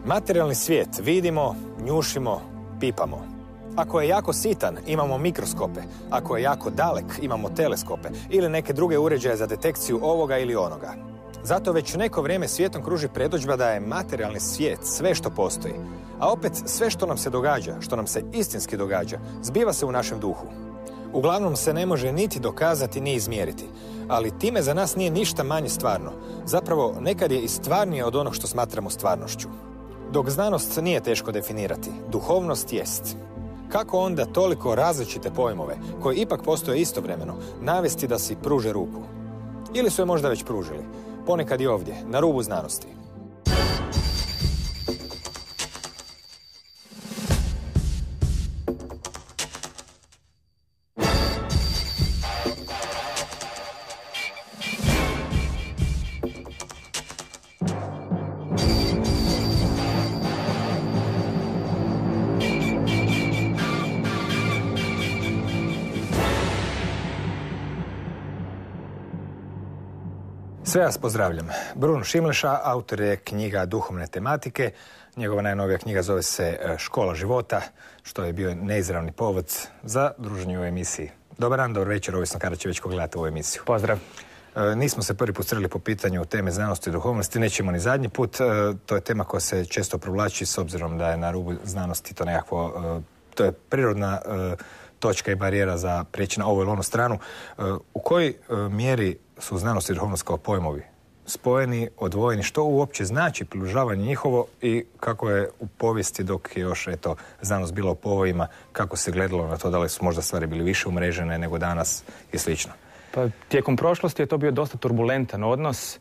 Materijalni svijet vidimo, njušimo, pipamo. Ako je jako sitan, imamo mikroskope. Ako je jako dalek, imamo teleskope ili neke druge uređaje za detekciju ovoga ili onoga. Zato već neko vrijeme svijetom kruži predodžba da je materijalni svijet sve što postoji. A opet sve što nam se događa, što nam se istinski događa, zbiva se u našem duhu. Uglavnom se ne može niti dokazati ni izmjeriti, ali time za nas nije ništa manje stvarno. Zapravo, nekad je i stvarnije od onog što smatramo stvarnošću. Dok znanost nije teško definirati, duhovnost jest. Kako onda toliko različite pojmove, koji ipak postoje istovremeno, navesti da si pruže ruku? Ili su je možda već pružili, ponekad i ovdje, na rubu znanosti. Sve vas pozdravljam. Bruno Šimleša, autor je knjiga duhovne tematike. Njegova najnovija knjiga zove se Škola života, što je bio neizravni povod za druženje u emisiji. Dobar dan, dobar večer, ovisno kada će već ko gledati ovu emisiju. Pozdrav. Nismo se prvi put sreli po pitanju teme znanosti i duhovnosti, nećemo ni zadnji put. To je tema koja se često provlači s obzirom da je na rubu znanosti to nekakvo, to je prirodna točka i barijera za prijeći na ovu ili onu stranu. U kojoj mjeri su znanost i duhovnost kao pojmovi spojeni, odvojeni, što uopće znači približavanje njihovo i kako je u povijesti dok je još znanost bila u povojima, kako se gledalo na to, da li su možda stvari bili više umrežene nego danas i slično? Pa, tijekom prošlosti je to bio dosta turbulentan odnos.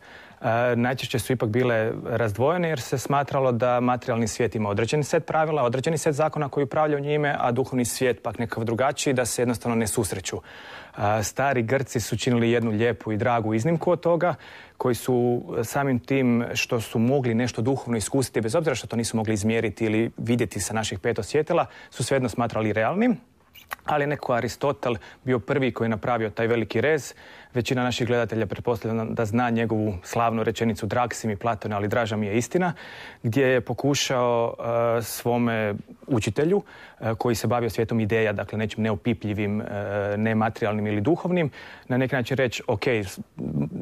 Najčešće su ipak bile razdvojene jer se smatralo da materijalni svijet ima određeni set pravila, određeni set zakona koji upravljaju njime, a duhovni svijet pak nekakav drugačiji, da se jednostavno ne susreću. Stari Grci su činili jednu lijepu i dragu iznimku od toga, koji su samim tim što su mogli nešto duhovno iskusiti, bez obzira što to nisu mogli izmjeriti ili vidjeti sa naših pet osjetila, su svejedno smatrali realnim. Ali je neko Aristotel bio prvi koji je napravio taj veliki rez. Većina naših gledatelja pretpostavlja da zna njegovu slavnu rečenicu drag si mi Platone, ali draža mi je istina, gdje je pokušao svome učitelju koji se bavio svijetom ideja, dakle nečim neopipljivim, nematerijalnim ili duhovnim, na neki način reći, ok,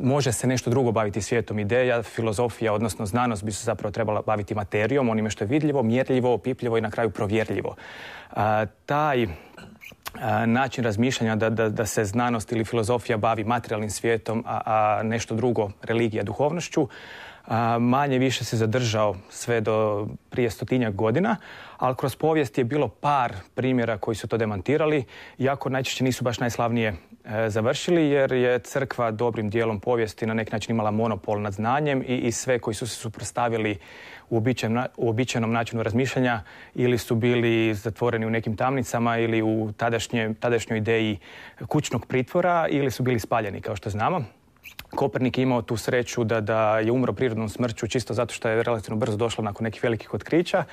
može se nešto drugo baviti svijetom ideja, filozofija, odnosno znanost bi se zapravo trebala baviti materijom, onime što je vidljivo, mjerljivo, opipljivo i na kraju provjerljivo. Taj način razmišljanja da se znanost ili filozofija bavi materijalnim svijetom, a nešto drugo, religija, duhovnošću, manje više se zadržao sve do prije 100-tinjak godina, ali kroz povijest je bilo par primjera koji su to demantirali, iako najčešće nisu baš najslavnije završili, jer je crkva dobrim dijelom povijesti na neki način imala monopol nad znanjem i sve koji su se suprotstavili uobičajenom načinu razmišljanja ili su bili zatvoreni u nekim tamnicama ili u tadašnjoj ideji kućnog pritvora ili su bili spaljeni, kao što znamo. Kopernik je imao tu sreću da je umro prirodnom smrću čisto zato što je relativno brzo došlo nakon nekih velikih otkrića.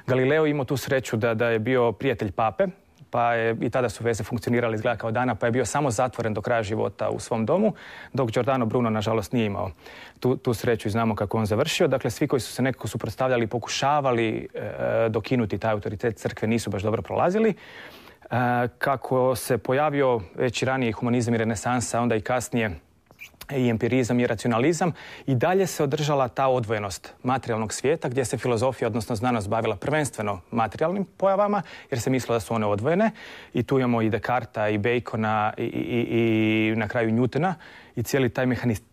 Galileo je imao tu sreću da je bio prijatelj pape, pa je i tada su veze funkcionirale izgleda kao dana, pa je bio samo zatvoren do kraja života u svom domu, dok Giordano Bruno nažalost nije imao tu sreću i znamo kako on završio. Dakle, svi koji su se nekako suprotstavljali, pokušavali dokinuti taj autoritet crkve, nisu baš dobro prolazili. Kako se pojavio već i ranije humanizam i renesansa, onda i kasnije i empirizam i racionalizam, i dalje se održala ta odvojenost materijalnog svijeta gdje se filozofija, odnosno znanost, bavila prvenstveno materijalnim pojavama jer se mislilo da su one odvojene, i tu imamo i Descartesa i Bacona i na kraju Newtona, i cijeli taj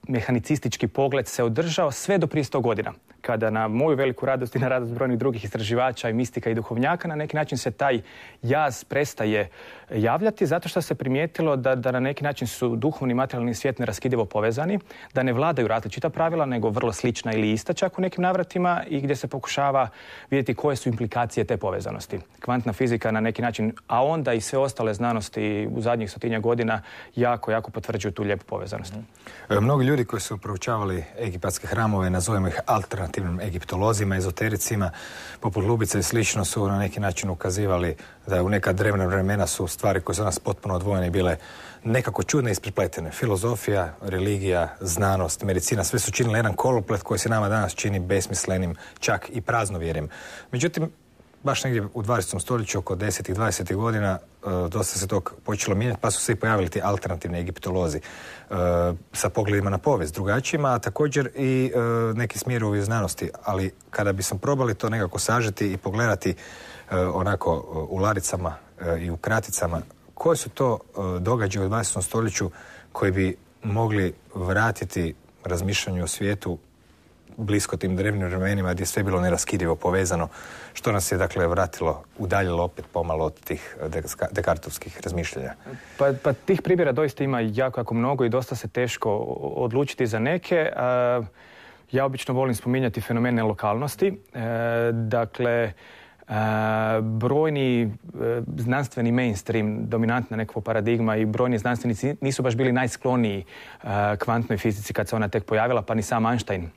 mehanicistički pogled se održao sve do prije 100 godina, kada na moju veliku radost i na radost brojnih drugih istraživača i mistika i duhovnjaka na neki način se taj jaz prestaje javljati, zato što se primijetilo da na neki način su duhovni i materijalni svijet neraskidivo povezani, da ne vladaju različita pravila, nego vrlo slična ili ista čak u nekim navratima, i gdje se pokušava vidjeti koje su implikacije te povezanosti. Kvantna fizika na neki način, a onda i sve ostale znanosti u zadnjih 100-tinjak godina jako potvrđuju tu lijepu povezanost. Mnogi ljudi koji su proučavali egipatske hramove, nazovemo ih alternativnim egiptolozima, ezotericima, poput Lubice i slično, su na neki način ukazivali da u neka drevna vremena su stvari koje su nas potpuno odvojene bile nekako čudne i isprepletene. Filozofija, religija, znanost, medicina, sve su činili jedan koloplet koji se nama danas čini besmislenim, čak i praznovjerim. Međutim, baš negdje u 20. stoljeću, oko 10. i 20. godina, dosta se to počelo mijenjati, pa su se i pojavili ti alternativni egiptolozi sa pogledima na povijest drugačijima, a također i neki smjerovi u znanosti. Ali kada bismo probali to nekako sažeti i pogledati onako u laricama i u kraticama, koji su to događaje u 20. stoljeću koji bi mogli vratiti razmišljanju o svijetu blisko tim drevnim vremenima gdje je sve bilo neraskidivo povezano, što nas je dakle vratilo, udaljilo opet pomalo od tih dekartovskih razmišljanja? Pa tih primjera doista ima jako mnogo i dosta se teško odlučiti za neke. Ja obično volim spominjati fenomene lokalnosti. Dakle, brojni znanstveni mainstream, dominantna nekakva paradigma i brojni znanstvenici nisu baš bili najskloniji kvantnoj fizici kad se ona tek pojavila, pa ni sam Einstein,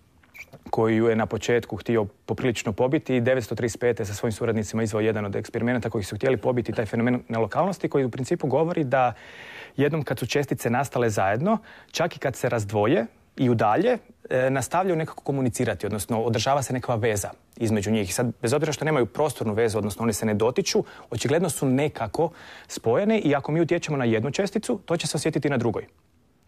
koji ju je na početku htio poprilično pobiti i 1935. sa svojim suradnicima izveo jedan od eksperimenata koji su htjeli pobiti taj fenomen nelokalnosti, koji u principu govori da jednom kad su čestice nastale zajedno, čak i kad se razdvoje i udalje, nastavljaju nekako komunicirati, odnosno održava se nekakva veza između njih. Sad, bez obzira što nemaju prostornu vezu, odnosno one se ne dotiču, očigledno su nekako spojene i ako mi utječemo na jednu česticu, to će se osjetiti na drugoj.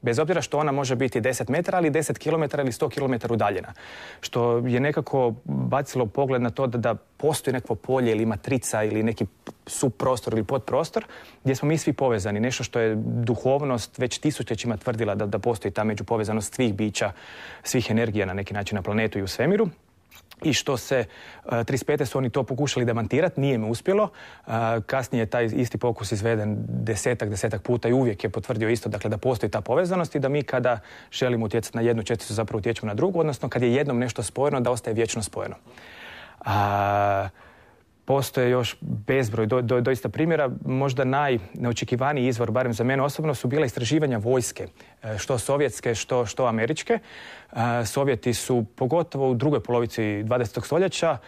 Bez obzira što ona može biti 10 metara, ali 10 km ili 100 km udaljena. Što je nekako bacilo pogled na to da postoji nekakvo polje ili matrica ili neki subprostor ili podprostor gdje smo mi svi povezani. Nešto što je duhovnost već tisućljećima tvrdila da postoji ta međupovezanost svih bića, svih energija na neki način na planetu i u svemiru. I što se 35. su oni to pokušali demantirati, nije me uspjelo. Kasnije je taj isti pokus izveden desetak puta i uvijek je potvrdio isto, dakle, da postoji ta povezanost i da mi kada želimo utjecati na jednu česticu zapravo utječemo na drugu, odnosno kad je jednom nešto spojeno da ostaje vječno spojeno. Postoje još bezbroj doista primjera. Možda najneočekivaniji izvor, barem za mene osobno, su bila istraživanja vojske, što sovjetske, što američke. Sovjeti su, pogotovo u drugoj polovici 20. stoljeća,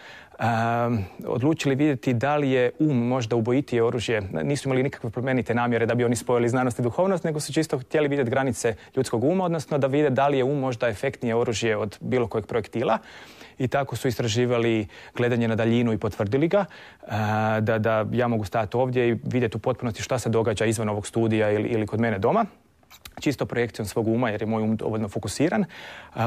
odlučili vidjeti da li je možda ubojitije oružje. Nisu imali nikakve plemenite namjere da bi oni spojili znanost i duhovnost, nego su čisto htjeli vidjeti granice ljudskog uma, odnosno da vide da li je možda efektnije oružje od bilo kojeg projektila. I tako su istraživali gledanje na daljinu i potvrdili ga, da ja mogu stajati ovdje i vidjeti u potpunosti šta se događa izvan ovog studija ili kod mene doma. Čisto projekcijom svog uma, jer je moj um dovoljno fokusiran.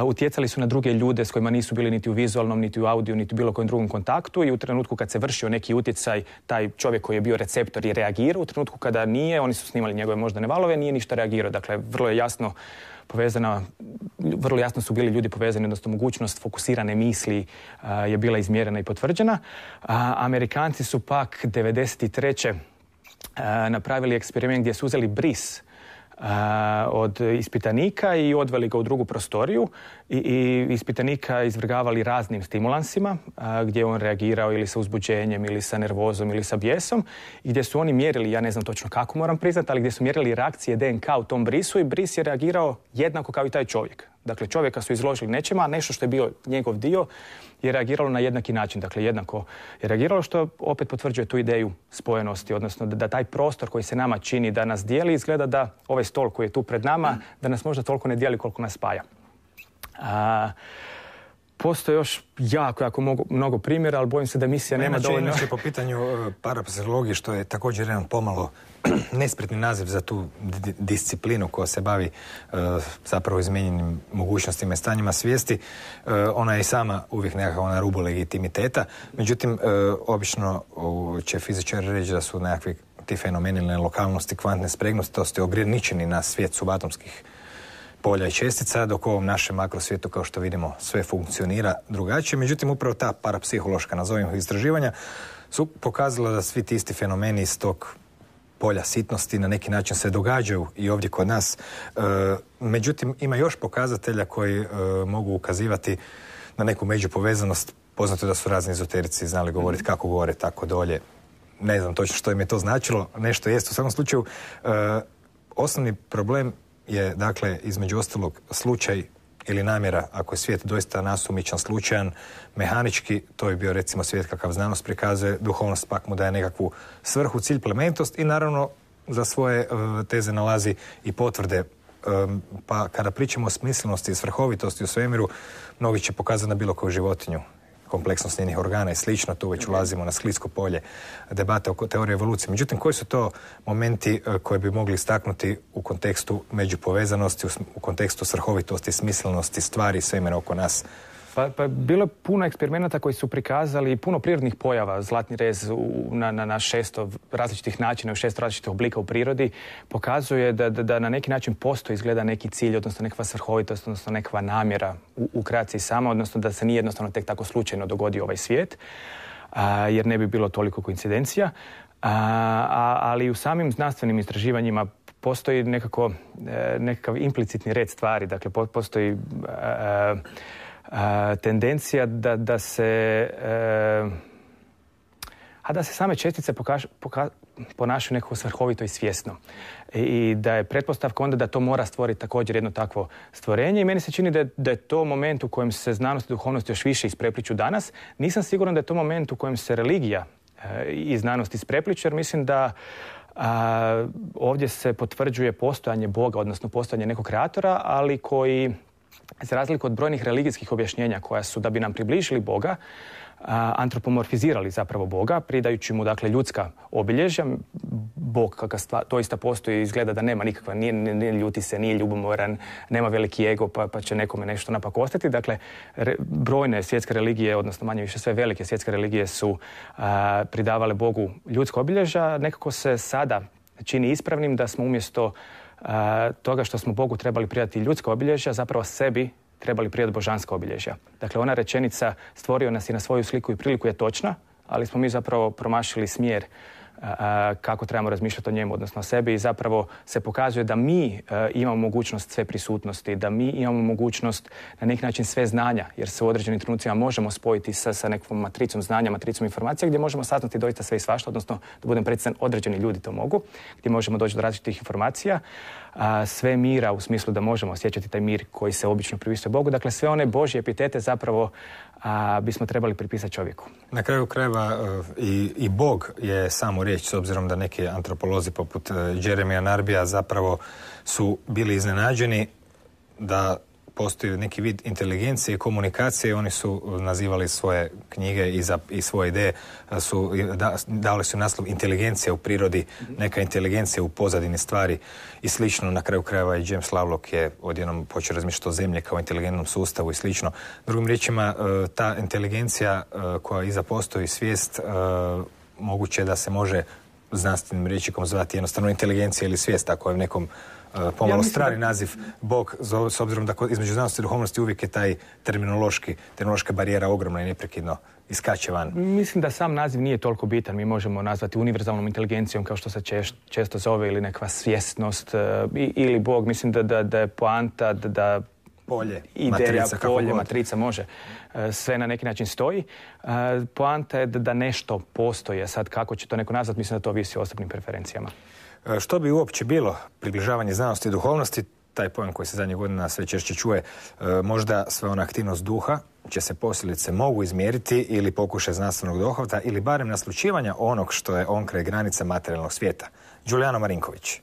Utjecali su na druge ljude s kojima nisu bili niti u vizualnom, niti u audio, niti u bilo kojem drugom kontaktu i u trenutku kad se vršio neki utjecaj, taj čovjek koji je bio receptor je reagirao. U trenutku kada nije, oni su snimali njegove moždane valove, nije ništa reagirao. Dakle, vrlo je jasno povezana, vrlo jasno su bili ljudi povezani, odnosno mogućnost fokusirane misli je bila izmjerena i potvrđena. Amerikanci su pak 1993. Napravili eksperiment gdje su uzeli bris od ispitanika i odveli ga u drugu prostoriju i ispitanika izvrgavali raznim stimulansima gdje je on reagirao ili sa uzbuđenjem ili sa nervozom ili sa bijesom i gdje su oni mjerili, ja ne znam točno kako moram priznati, ali gdje su mjerili reakcije DNK u tom brisu i bris je reagirao jednako kao i taj čovjek. Dakle, čovjeka su izložili nečema, a nešto što je bio njegov dio je reagiralo na jednaki način. Dakle, jednako je reagiralo, što opet potvrđuje tu ideju spojenosti, odnosno da taj prostor koji se nama čini da nas dijeli, izgleda da ovaj stol koji je tu pred nama, da nas možda toliko ne dijeli koliko nas spaja. Postoje još jako mnogo primjera, ali bojim se da emisija nema dovoljno. Inače, po pitanju parapsihologije, što je također jedan pomalo nespretni naziv za tu disciplinu koja se bavi zapravo izmijenjenim mogućnostima i stanjima svijesti, ona je i sama uvijek nekako na rubu legitimiteta. Međutim, obično će fizičari reći da su nekakvi ti fenomeni lokalnosti, kvantne spregnosti ograničeni na svijet subatomskih polja i čestica, dok u ovom našem makrosvijetu, kao što vidimo, sve funkcionira drugačije. Međutim, upravo ta parapsihološka, nazovimo istraživanja, su pokazala da svi ti isti fenomeni iz tog polja sitnosti na neki način se događaju i ovdje kod nas. Međutim, ima još pokazatelja koji mogu ukazivati na neku međupovezanost. Poznato je da su razni ezoterici znali govoriti kako gore, tako dolje. Ne znam točno što im je to značilo. Nešto jest. U svakom slučaju, osnovni problem je, dakle, između ostalog slučaj ili namjera, ako je svijet doista nasumičan, slučajan, mehanički, to bi bio recimo svijet kakav znanost prikazuje, duhovnost pak mu daje nekakvu svrhu, cilj, plemenitost i naravno za svoje teze nalazi i potvrde. Pa kada pričamo o smislenosti i svrhovitosti u svemiru, mnogi će pokazati na bilo koju životinju, kompleksnost njenih organa i slično, tu već ulazimo na sklisko polje debate oko teorije evolucije. Međutim, koji su to momenti koje bi mogli istaknuti u kontekstu međupovezanosti, u kontekstu svrhovitosti, smislenosti stvari i svemira oko nas? Pa bilo je puno eksperimenata koji su prikazali puno prirodnih pojava. Zlatni rez na 600 različitih načina, u 600 različitih oblika u prirodi pokazuje da na neki način postoji izgleda neki cilj, odnosno nekakva svrhovitost, odnosno nekakva namjera u kreaciji sama, odnosno da se nije jednostavno tek tako slučajno dogodio ovaj svijet, jer ne bi bilo toliko koincidencija. Ali u samim znanstvenim istraživanjima postoji nekakav implicitni red stvari, dakle postoji tendencija da se same čestice ponašaju nekako svrhovito i svjesno. I da je pretpostavka onda da to mora stvoriti također jedno takvo stvorenje. I meni se čini da je to moment u kojem se znanost i duhovnost još više isprepliču danas. Nisam siguran da je to moment u kojem se religija i znanost isprepliču, jer mislim da ovdje se potvrđuje postojanje Boga, odnosno postojanje nekog kreatora, ali koji, za razliku od brojnih religijskih objašnjenja koja su, da bi nam približili Boga, antropomorfizirali zapravo Boga, pridajući mu, dakle, ljudska obilježja. Bog kakav doista postoji, izgleda da nema nikakva, nije ljuti se, nije ljubomoran, nema veliki ego pa će nekome nešto napakostati. Dakle, brojne svjetske religije, odnosno manje više sve velike svjetske religije su pridavale Bogu ljudska obilježja. Nekako se sada čini ispravnim da smo umjesto toga što smo Bogu trebali pridati ljudska obilježja, zapravo sebi trebali pridati božanska obilježja. Dakle, ona rečenica stvorio nas i na svoju sliku i priliku je točna, ali smo mi zapravo promašili smjer kako trebamo razmišljati o njemu, odnosno o sebi, i zapravo se pokazuje da mi imamo mogućnost sve prisutnosti, da mi imamo mogućnost na neki način sve znanja, jer se u određenim trenucima možemo spojiti sa nekom matricom znanja, matricom informacija, gdje možemo saznati doista sve i svašta, odnosno, da budem precizan, određeni ljudi to mogu, gdje možemo doći do različitih informacija, sve mira u smislu da možemo osjećati taj mir koji se obično pripisuje Bogu. Dakle, sve one Božje epitete zapravo bismo trebali pripisati čovjeku. Na kraju krajeva i Bog je samo riječ, s obzirom da neki antropolozi poput Jeremija Narbija zapravo su bili iznenađeni da postoji neki vid inteligencije i komunikacije. Oni su nazivali svoje knjige i svoje ideje, dali su naslov inteligencija u prirodi, neka inteligencija u pozadini stvari i slično. Na kraju krajeva i James Lovelock je odjednom počeo razmišljati o zemlji kao inteligentnom sustavu i slično. Drugim riječima, ta inteligencija koja iza postoji, svijest, moguće da se može znanstvenim rječnikom zvati jednostavno inteligencija ili svijest, ako je nekom pomalo strani naziv Bog, s obzirom da između znanosti i duhovnosti uvijek je taj terminološka barijera ogromna i neprekidno iskače van. Mislim da sam naziv nije toliko bitan. Mi možemo nazvati univerzalnom inteligencijom, kao što se često zove, ili nekakva svjesnost, ili Bog. Mislim da je poanta da polje, ideja, polje, matrica može. Sve na neki način stoji. Poanta je da nešto postoje. Sad kako će to neko nazvati, mislim da to ovisi o osobnim preferencijama. Što bi uopće bilo približavanje znanosti i duhovnosti, taj pojam koji se zadnjih godina sve češće čuje, možda sve ona aktivnost duha će se posljedice mogu izmjeriti ili pokušaj znanstvenog dohvata ili barem naslućivanja onog što je onkraj granica materijalnog svijeta. Đulijano Marinković.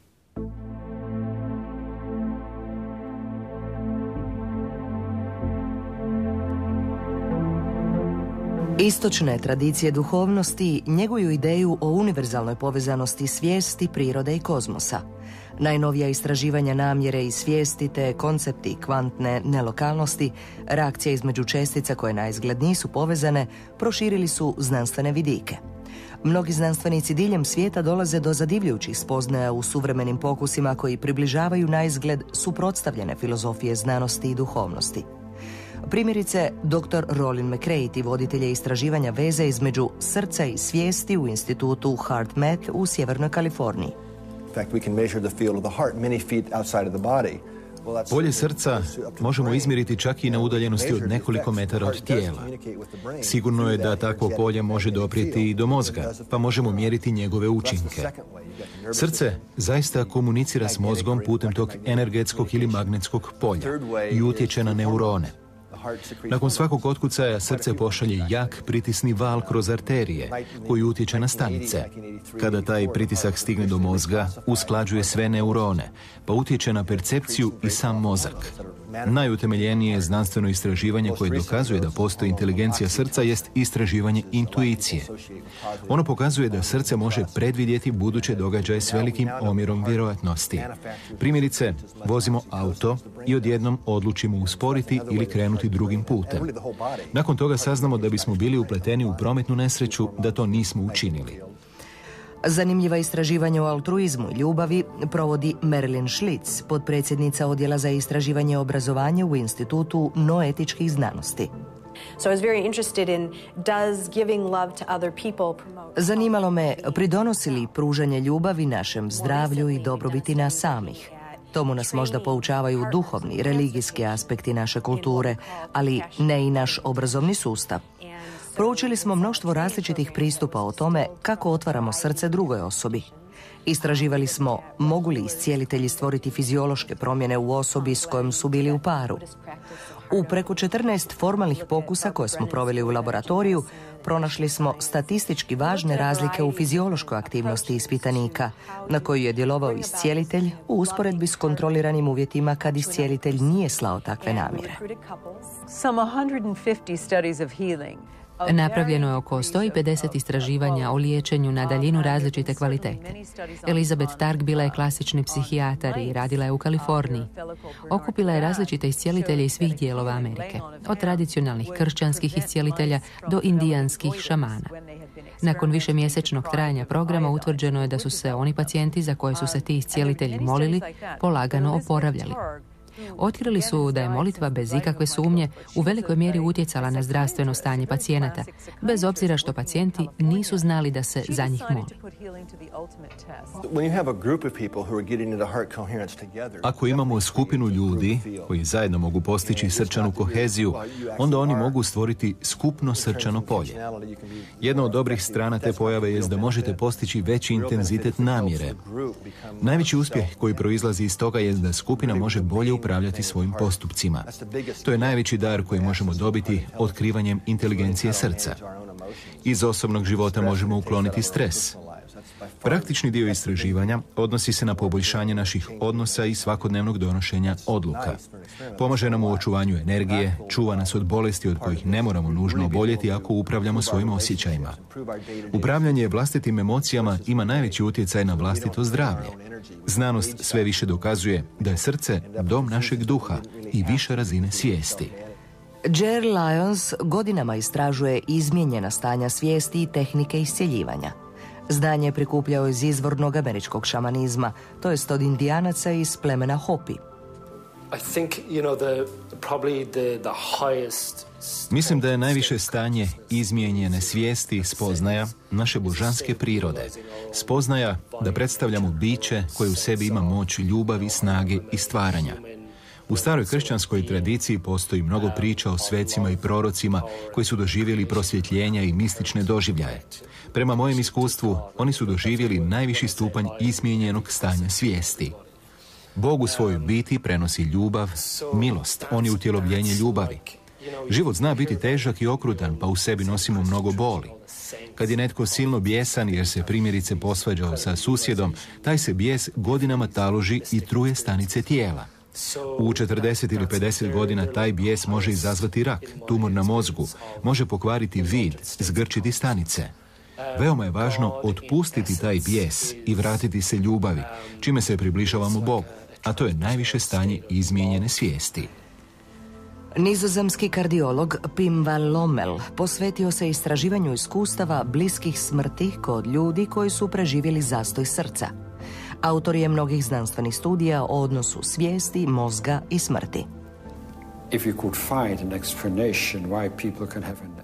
Istočne tradicije duhovnosti njeguju ideju o univerzalnoj povezanosti svijesti, prirode i kozmosa. Najnovija istraživanja namjere i svijesti te koncepti kvantne nelokalnosti, reakcije između čestica koje naizgled nisu povezane, proširili su znanstvene vidike. Mnogi znanstvenici diljem svijeta dolaze do zadivljujućih spoznaja u suvremenim pokusima koji približavaju naizgled suprotstavljene filozofije znanosti i duhovnosti. Primjerice, dr. Rollin McCreighty, voditelj istraživanja veze između srca i svijesti u institutu HeartMath u Sjevernoj Kaliforniji. In fact, we can measure the field of the heart many feet outside of the body. Polje srca možemo izmjeriti čak i na udaljenosti od nekoliko metara od tijela. Sigurno je da takvo polje može doprijeti i do mozga, pa možemo mjeriti njegove učinke. Srce zaista komunicira s mozgom putem tog energetskog ili magnetskog polja i utječe na neurone. Nakon svakog otkucaja srce pošalje jak pritisni val kroz arterije koji utječe na stanice. Kada taj pritisak stigne do mozga, usklađuje sve neurone, pa utječe na percepciju i sam mozak. Najutemeljenije znanstveno istraživanje koje dokazuje da postoji inteligencija srca jest istraživanje intuicije. Ono pokazuje da srce može predvidjeti buduće događaje s velikim omjerom vjerojatnosti. Primjerice, vozimo auto i odjednom odlučimo usporiti ili krenuti drugim putem. Nakon toga saznamo da bismo bili upleteni u prometnu nesreću da to nismo učinili. Zanimljiva istraživanja o altruizmu i ljubavi provodi Marilyn Schlitz, potpredsjednica Odjela za istraživanje i obrazovanje u Institutu noetičkih znanosti. Zanimalo me, pridonosi li pružanje ljubavi našem zdravlju i dobrobiti nas samih. Tomu nas možda poučavaju duhovni, religijski aspekti naše kulture, ali ne i naš obrazovni sustav. Proučili smo mnoštvo različitih pristupa o tome kako otvaramo srce drugoj osobi. Istraživali smo mogu li iscijelitelji stvoriti fiziološke promjene u osobi s kojom su bili u paru. U preko 14 formalnih pokusa koje smo proveli u laboratoriju, pronašli smo statistički važne razlike u fiziološkoj aktivnosti ispitanika, na koju je djelovao iscijelitelj u usporedbi s kontroliranim uvjetima kad iscijelitelj nije slao takve namjere. Napravljeno je oko 150 istraživanja o liječenju na daljinu različite kvalitete. Elizabeth Targ bila je klasični psihijatar i radila je u Kaliforniji. Okupila je različite iscijelitelje iz svih dijelova Amerike, od tradicionalnih kršćanskih iscijelitelja do indijanskih šamana. Nakon višemjesečnog trajanja programa utvrđeno je da su se oni pacijenti za koje su se ti iscijelitelji molili polagano oporavljali. Otkrili su da je molitva bez ikakve sumnje u velikoj mjeri utjecala na zdravstveno stanje pacijenata, bez obzira što pacijenti nisu znali da se za njih moli. Ako imamo skupinu ljudi koji zajedno mogu postići srčanu koheziju, onda oni mogu stvoriti skupno srčano polje. Jedna od dobrih strana te pojave je da možete postići veći intenzitet namjere. Najveći uspjeh koji proizlazi iz toga je da skupina može bolje upravljati svojim postupcima. To je najveći dar koji možemo dobiti otkrivanjem inteligencije srca. Iz osobnog života možemo ukloniti stres. Praktični dio istraživanja odnosi se na poboljšanje naših odnosa i svakodnevnog donošenja odluka. Pomaže nam u očuvanju energije, čuva nas od bolesti od kojih ne moramo nužno oboljeti ako upravljamo svojim osjećajima. Upravljanje vlastitim emocijama ima najveći utjecaj na vlastito zdravlje. Znanost sve više dokazuje da je srce dom našeg duha i više razine svijesti. Jer Lyons godinama istražuje izmijenjena stanja svijesti i tehnike iscjeljivanja. Znanje je prikupljao iz izvornog američkog šamanizma, to jest od Indijanaca iz plemena Hopi. Mislim da je najviše stanje izmijenjene svijesti spoznaja naše božanske prirode. Spoznaja da predstavljamo biće koje u sebi ima moć ljubavi, snage i stvaranja. U staroj kršćanskoj tradiciji postoji mnogo priča o svecima i prorocima koji su doživjeli prosvjetljenja i mistične doživljaje. Prema mojem iskustvu, oni su doživjeli najviši stupanj izmijenjenog stanja svijesti. Bog u svojoj biti prenosi ljubav, milost, on je utjelovljenje ljubavi. Život zna biti težak i okrutan, pa u sebi nosimo mnogo boli. Kad je netko silno bijesan jer se primjerice posvađao sa susjedom, taj se bijes godinama taloži i truje stanice tijela. U 40 ili 50 godina taj bijes može izazvati rak, tumor na mozgu, može pokvariti vid, zgrčiti stanice. Veoma je važno otpustiti taj bijes i vratiti se ljubavi, čime se približavamo Bogu, a to je najviše stanje izmijenjene svijesti. Nizozemski kardiolog Pim van Lommel posvetio se istraživanju iskustava bliskih smrti kod ljudi koji su preživjeli zastoj srca. Autor je mnogih znanstvenih studija o odnosu svijesti, mozga i smrti.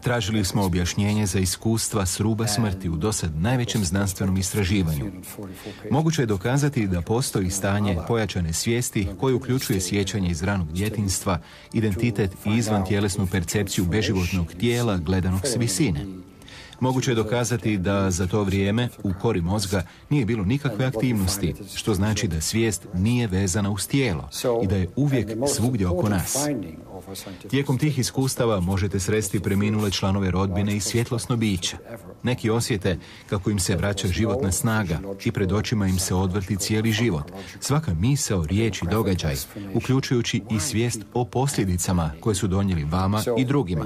Tražili smo objašnjenje za iskustva s ruba smrti u dosad najvećem znanstvenom istraživanju. Moguće je dokazati da postoji stanje pojačane svijesti koje uključuje sjećanje iz ranog djetinjstva, identitet i izvantjelesnu percepciju beživotnog tijela gledanog s visine. Moguće je dokazati da za to vrijeme u kori mozga nije bilo nikakve aktivnosti, što znači da svijest nije vezana uz tijelo i da je uvijek svugdje oko nas. Tijekom tih iskustava možete sresti preminule članove rodbine i svjetlosno biće. Neki osjete kako im se vraća životna snaga i pred očima im se odvrti cijeli život. Svaka misao, riječ i događaj, uključujući i svijest o posljedicama koje su donijeli vama i drugima.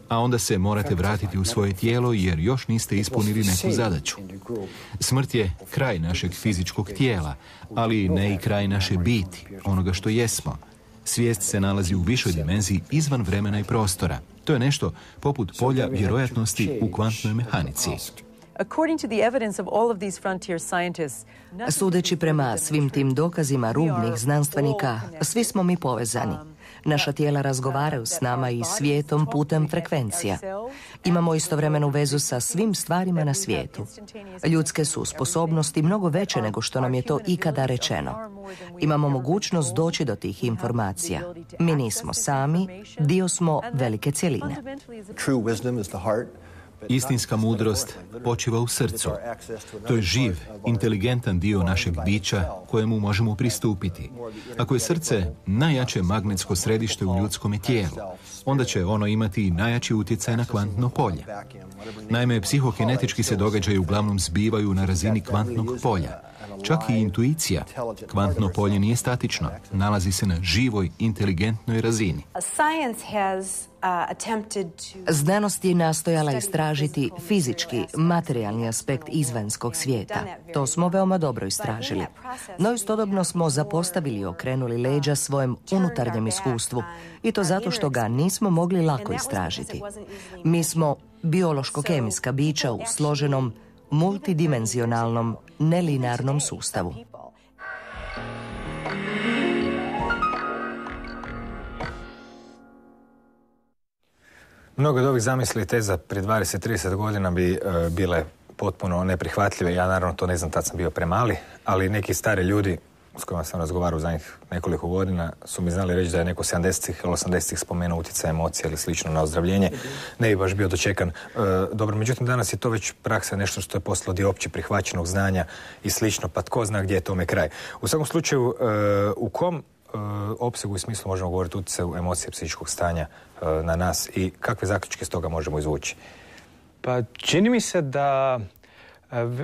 A onda se morate vratiti u svoje tijelo jer još niste ispunili neku zadaću. Smrt je kraj našeg fizičkog tijela, ali ne i kraj naše biti, onoga što jesmo. Svijest se nalazi u višoj dimenziji izvan vremena i prostora. To je nešto poput polja vjerojatnosti u kvantnoj mehanici. Sudeći prema svim tim dokazima rubnih znanstvenika, svi smo mi povezani. Naša tijela razgovaraju s nama i svijetom putem frekvencija. Imamo istovremenu vezu sa svim stvarima na svijetu. Ljudske su sposobnosti mnogo veće nego što nam je to ikada rečeno. Imamo mogućnost doći do tih informacija. Mi nismo sami, dio smo velike cjeline. Istinska mudrost počiva u srcu. To je živ, inteligentan dio našeg bića kojemu možemo pristupiti. Ako je srce najjače magnetsko središte u ljudskom tijelu, onda će ono imati najjači utjecaj na kvantno polje. Naime, psihokinetički se događaji uglavnom zbivaju na razini kvantnog polja. Čak i intuicija, kvantno polje nije statično, nalazi se na živoj, inteligentnoj razini. Znanost je nastojala istražiti fizički, materijalni aspekt izvanjskog svijeta. To smo veoma dobro istražili. No istodobno smo zapostavili i okrenuli leđa svojem unutarnjem iskustvu. I to zato što ga nismo mogli lako istražiti. Mi smo biološko-kemijska bića u složenom, multidimenzionalnom, nelinarnom sustavu. Mnogo od ovih zamisli i teza prije 20-30 godina bi bile potpuno neprihvatljive. Ja naravno to ne znam, tad sam bio premali, ali neki stari ljudi s kojima sam razgovarao u zadnjih nekoliko godina su mi znali reći da je neko 70-ih ili 80-ih spomenuo utjecaj emocija ili slično na ozdravljenje. Ne bi baš bio dočekan dobro. Međutim, danas je to već praksa, nešto što je postalo dio opće prihvaćenog znanja i slično, pa tko zna gdje je tome kraj. U svakom slučaju, u kom opsegu i smislu možemo govoriti o utjecaju emocije psihičkog stanja na nas i kakve zaključke s toga možemo izvući? Pa čini mi se da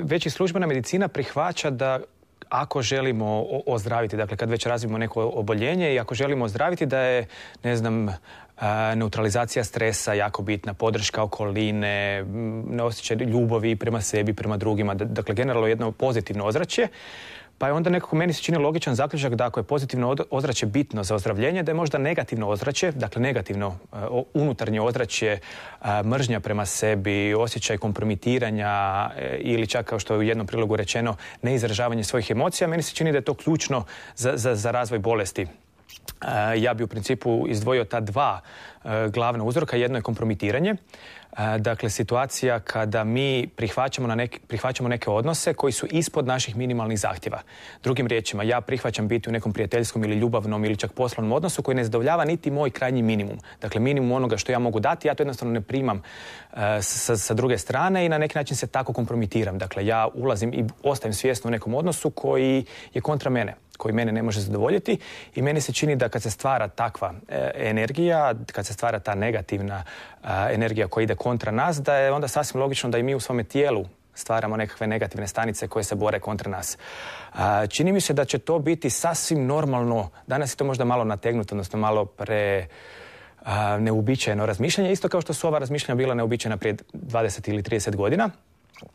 već i službena medicina prihvaća da ako želimo ozdraviti, dakle kad već razvijemo neko oboljenje i ako želimo ozdraviti da je, ne znam, neutralizacija stresa jako bitna, podrška okoline, osjećaj ljubavi prema sebi, prema drugima, dakle generalno jedno pozitivno ozračje. Pa je onda nekako meni se čini logičan zaključak da ako je pozitivno ozračje bitno za ozdravljenje, da je možda negativno ozračje, dakle negativno unutarnje ozračje, mržnja prema sebi, osjećaj kompromitiranja ili čak kao što je u jednom prilogu rečeno neizražavanje svojih emocija, meni se čini da je to ključno za razvoj bolesti. Ja bi u principu izdvojio ta dva glavna uzroka. Jedno je kompromitiranje. Dakle, situacija kada mi prihvaćamo neke odnose koji su ispod naših minimalnih zahtjeva. Drugim riječima, ja prihvaćam biti u nekom prijateljskom ili ljubavnom ili čak poslovnom odnosu koji ne zadovoljava niti moj krajnji minimum. Dakle, minimum onoga što ja mogu dati, ja to jednostavno ne primam sa druge strane i na neki način se tako kompromitiram. Dakle, ja ulazim i ostajem svjesno u nekom odnosu koji je kontra mene, koji mene ne može zadovoljiti i meni se čini da kad se stvara takva energija, kad se stvara ta negativna energija koja ide kontra nas, da je onda sasvim logično da i mi u svome tijelu stvaramo nekakve negativne stanice koje se bore kontra nas. Čini mi se da će to biti sasvim normalno. Danas je to možda malo nategnuto, odnosno malo neuobičajeno razmišljanje, isto kao što su ova razmišljanja bila neuobičajena prije 20 ili 30 godina.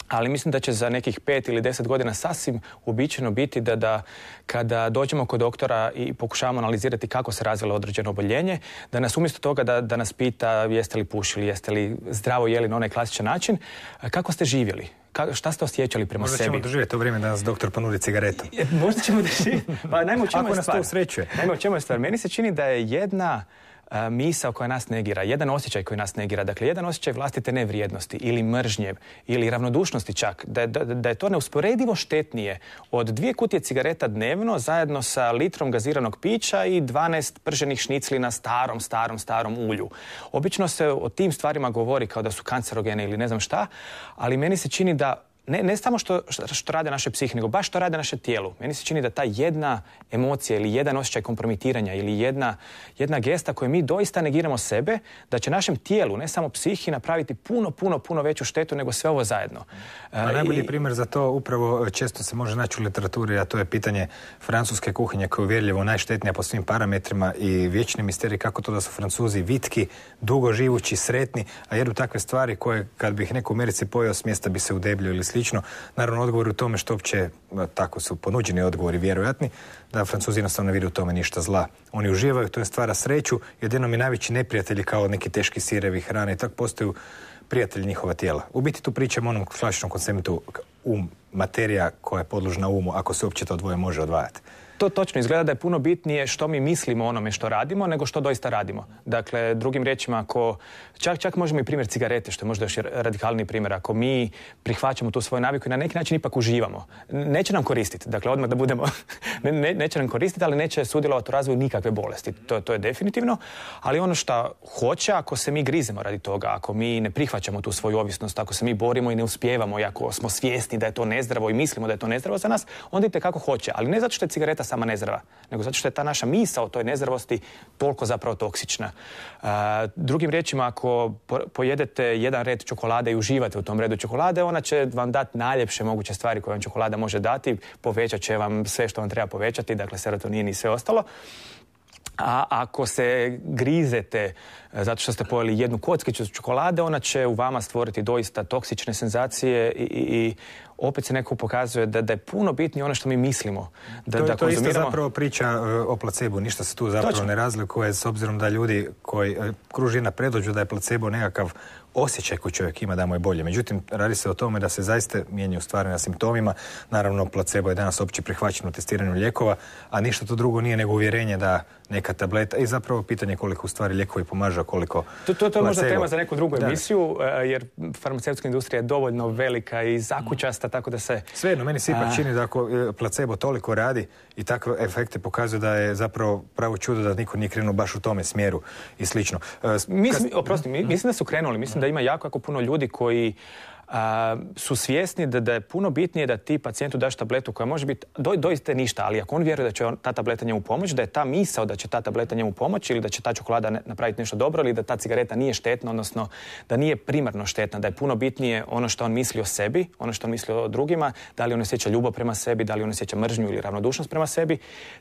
Ali mislim da će za nekih 5 ili 10 godina sasvim uobičajeno biti da kada dođemo kod doktora i pokušavamo analizirati kako se razvilo određeno oboljenje, da nas umjesto toga da nas pita jeste li pušili, jeste li zdravo jeli na onaj klasičan način, kako ste živjeli, šta ste osjećali prema možda sebi? Možda ćemo doživjeti to vrijeme da nas doktor ponudi cigaretu. Možda ćemo doživjeti. Pa najmo u čemu je stvar. Ako nas to usrećuje. Najmo u čemu je stvar. Meni se čini da je jedna misao koja nas negira, jedan osjećaj koji nas negira, dakle jedan osjećaj vlastite nevrijednosti ili mržnje ili ravnodušnosti čak, da je to neusporedivo štetnije od 2 kutije cigareta dnevno zajedno sa litrom gaziranog pića i 12 prženih šnicli na starom ulju. Obično se o tim stvarima govori kao da su kancerogene ili ne znam šta, ali meni se čini da ne samo što rade naše psihe, nego baš što rade naše tijelo. Meni se čini da ta jedna emocija ili jedan osjećaj kompromitiranja ili jedna gesta koju mi doista negiramo sebe, da će našem tijelu, ne samo psihi, napraviti puno veću štetu nego sve ovo zajedno. A najbolji primjer za to upravo često se može naći u literaturi, a to je pitanje francuske kuhinje koja je uvjerljivo najštetnija po svim parametrima i vječni misterij kako to da su Francuzi vitki, dugo živući, sretni, a jedu takve stvari koje kad bi ih neko u Americi pojeo s mjesta bi se udebljio ili slično. Naravno, odgovor u tome što uopće, tako su ponuđeni odgovori vjerojatni, da Francuzi jednostavno ne vide u tome ništa zla. Oni uživaju, to je stvara sreću, jedino mi najveći neprijatelji kao neki teški sirevi hrane i tako postaju prijatelji njihova tijela. U biti tu pričamo o onom klasičnom konceptu materija koja je podložna umu, ako se uopće to dvoje može odvajati. To točno izgleda da je puno bitnije što mi mislimo o onome što radimo nego što doista radimo. Dakle, drugim riječima, ako čak možemo i primjer cigarete, što je možda još radikalniji primjer, ako mi prihvaćamo tu svoju naviku i na neki način ipak uživamo, neće nam koristiti. Dakle, odmah da budemo, neće nam koristiti, ali neće sudjelovati u razvoju nikakve bolesti. To je definitivno. Ali ono što hoće, ako se mi grizemo radi toga, ako mi ne prihvaćamo tu svoju ovisnost, ako se mi borimo i ne uspijevamo i ako smo svjesni da je to nezdravo i mislimo da je to nezdravo za nas, onda idete kako hoće. Ali ne zato što je cigareta sama nezdrava, nego zato što je ta naša misao o toj nezdravosti toliko zapravo toksična. Drugim riječima, ako pojedete jedan red čokolade i uživate u tom redu čokolade, ona će vam dati najljepše moguće stvari koje vam čokolada može dati, povećat će vam sve što vam treba povećati, dakle serotonin i sve ostalo. A ako se grizete zato što ste pojeli jednu kockicu čokolade, ona će u vama stvoriti doista toksične senzacije i opet se neko pokazuje da je puno bitnije ono što mi mislimo. To je isto zapravo priča o placebu. Ništa se tu zapravo ne razlikuje s obzirom da ljudi koji kruži na predođu da je placebo nekakav osjećaj koji čovjek ima da mu je bolje. Međutim, radi se o tome da se zaista mijenjaju stvari na simptomima. Naravno, placebo je danas opće prihvaćen u testiranju lijekova, a ništa to drugo nije nego uvjerenje da neka tableta i zapravo pitanje koliko u stvari lijekovi pomažu, a koliko placebo. To je možda tema za neku drugu emisiju, jer farmaceutska industrija je dovoljno velika i zakučasta, tako da se... Svejedno, meni se ipak čini da ako placebo toliko radi i takve efekte pokazuje da je zapravo pravo čudo da niko nije krenuo baš u tome smjeru i slično. Mislim da su krenuli, mislim da ima jako puno ljudi koji su svjesni da je puno bitnije da ti pacijentu daš tabletu koja može biti doista ništa, ali ako on vjeruje da će ta tableta njemu pomoći, da je ta misao da će ta tableta njemu pomoći ili da će ta čokolada napraviti nešto dobro ili da ta cigareta nije štetna, odnosno da nije primarno štetna, da je puno bitnije ono što on misli o sebi, ono što on misli o drugima, da li on osjeća ljubav prema sebi, da li on osjeća mržnju ili ravnodušnost prema sebi,